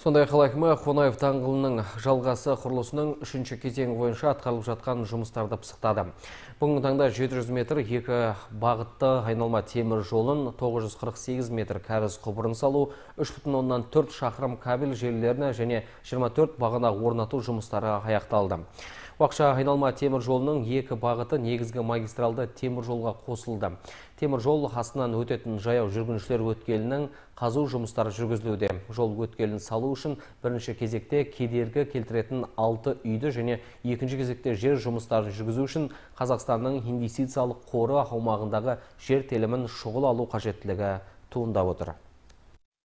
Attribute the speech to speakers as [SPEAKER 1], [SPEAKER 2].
[SPEAKER 1] Сондай қала әкімі Қонаев даңғылының жалғасы құрылысының 3-ші кезеңі бойынша атқарылып жатқан жұмыстарды пысықтады. Бүгінгі таңда 700 метр екі бағытты айналма темір жолын, 948 метр кәріз құбырын салу, 3,4 шақырым кабель желілеріне және 24 бағана орнату жұмыстары аяқталды. Уақытша айналма темір жолының екі бағыты негізгі магистралды темір жолға қосылды. Темір жол астынан өтетін жаяу жүргіншілер өткелінің қазу жұмыстары жүргізілуде. Жол өткелін салу үшін бірінші кезекте кедергі келтіретін 6 үйді және екінші кезекте жер жұмыстарын жүргізу үшін Қазақстанның инвестициялық қоры аумағындағы жер телімін шұғыл алу қажеттілігі туындап отыр.